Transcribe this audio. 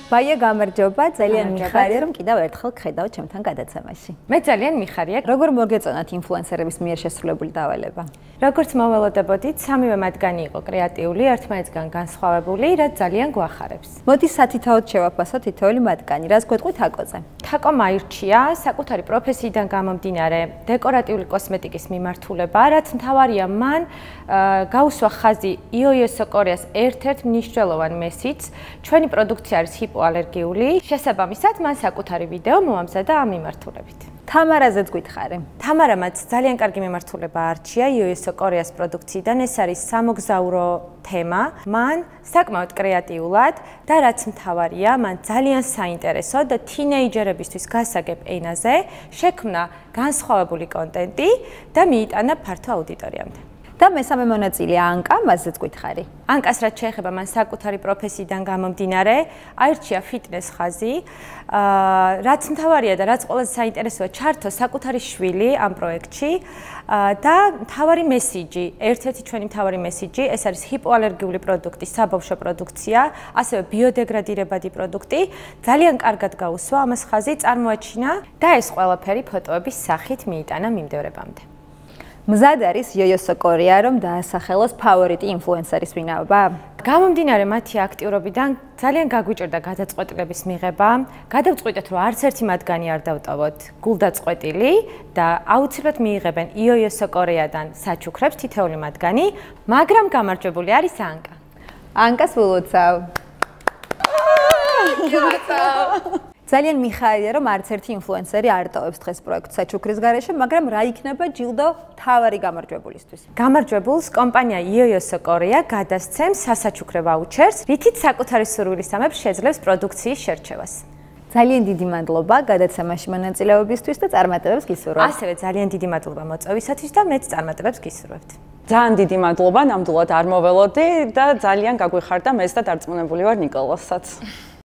ბაია გამარჯობა, ძალიან მიხარია რომ კიდევ ერთხელ გხედავთ ჩემთან გადაცემაში. მე ძალიან მიხარია. როგორ მოგეწონათ ინფლუენსერების მიერ შესრულებული დავალება? როგორც მოველოდებოდით, სამივე მათგანი იყო კრეატიული, ერთმანეთისგან განსხვავებული, რაც ძალიან გვახარებს. მოდი სათითაოდ შევაფასოთ თითოეული მათგანი, რას გვეტყვით აკოზე? თაკომ აირჩია საკუთარი პროფესიიდან გამომდინარე დეკორატიული კოსმეტიკის მიმართულება, რაც მთავარია მან გაუსვა ხაზი იოიოსო კორეას ერთ-ერთ მნიშვნელოვან მესიჯს, ჩვენი პროდუქცია არის ჰიპოალერგიული, შესაბამისად მან საკუთარი ვიდეო მოამზადა ამ მიმართულებით. თამარაზეც გითხარი. თამარამაც ძალიან კარგი მიმართულება არჩია იოიოსო კორეას პროდუქციიდან, ეს არის სამოგზაურო თემა, მან საკმაოდ კრეატიულად და რაც მთავარია, მან ძალიან საინტერესო და თინეიჯერებისთვის გასაგებ ენაზე შექმნა განსხვავებული კონტენტი და მიიტანა ფართო აუდიტორიამდე. და მესამე მონაწილეა ანკა, მასზეც გითხარი. ანკას რაც შეეხება მან საკუთარი პროფესიიდან გამომდინარე, აირჩია ფიტნეს ხაზი, რაც მთავარია და რაც ყველაზე საინტერესოა, ჩართო საკუთარი შვილი ამ პროექტში და მთავარი მესიჯი, ერთ-ერთი ჩვენი მთავარი მესიჯი, ეს არის ჰიპოალერგიული პროდუქტი, საბავშვო პროდუქცია, ასევე ბიოდეგრადირებადი პროდუქტი, ძალიან კარგად გაუსვა ამას ხაზი, წარმოაჩინა და ეს ყველაფერი ფოტოების სახით მიიტანა მიმდევრებამდე. მზად არის იოიოსო კორეა, რომ დაასახელოს ფავორიტი ინფლუენსერის ვინაობა? გამომდინარე მათი აქტიურობიდან ძალიან გაგვიჭირდა გადაწყვეტილების მიღება. გადავწყვიტეთ, რომ არც ერთი მათგანი არ დავტოვოთ გულდაწყვეტილი და აუცილებლად მიიღებენ იოიოსო კორეადან საჩუქრებს თითოეული მათგანი, მაგრამ გამარჯვებული არის ანკა. ანკას ვილოცავ. ძალიან მიხარია, რომ არც ერთი ინფლუენსერი არ ტოვებს დღეს პროექტს საჩუქრის გარეშე, მაგრამ რა იქნება ჯილდო თავარი გამარჯვებულისთვის? გამარჯვებულს კომპანია იოიოსო კორეა გადასცემს სასაჩუქრე ვაუჩერს, რითიც საკუთარი სურვილისამებრ შეძლებს პროდუქციის შერჩევას. ძალიან დიდი მადლობა გადაცემაში მონაწილეობისთვის და წარმატებებს გისურვებთ. ასევე ძალიან დიდი მადლობა მოწვევისათვის და მეც წარმატებებს გისურვებთ. ძალიან დიდი მადლობა, ნამდვილად არ მოველოდი და ძალიან გაგვიხარდა მეც და დარწმუნებული ვარ ნიკოლასაც.